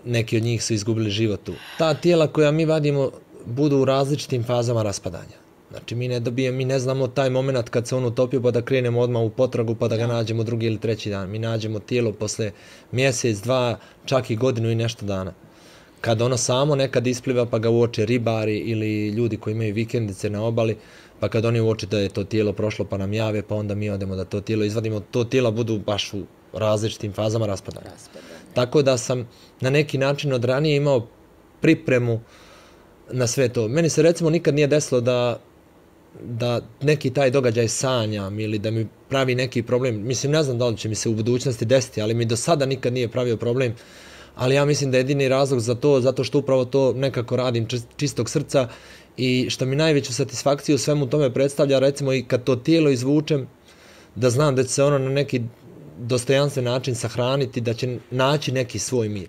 neki od njih su izgubili život tu. Ta tijela koja mi vadimo budu u različitim fazama raspadanja. Znači mi ne znamo taj moment kad se on utopio pa da krenemo odmah u potragu pa da ga nađemo drugi ili treći dan. Mi nađemo tijelo posle mjesec, dva, čak i godinu i nešto dana. Kad ono samo nekad ispliva pa ga uoče ribari ili ljudi koji imaju vikendice na obali, pa kad oni uoče da je to tijelo prošlo pa nam jave, pa onda mi odemo da to tijelo izvadimo, to tijela budu baš u različitim fazama raspadanja. Tako da sam na neki način od ranije imao pripremu na sve to. Meni se recimo nikad nije desilo da neki taj događaj sanjam ili da mi pravi neki problem. Mislim, ne znam da li će mi se u budućnosti desiti, ali mi do sada nikad nije pravio problem. Ali ja mislim da je jedini razlog za to, zato što upravo to nekako radim čistog srca i što mi najveću satisfakciju u svemu tome predstavlja, recimo i kad to tijelo izvučem, da znam da će se ono na neki dostojanstven način sahraniti, da će naći neki svoj mir.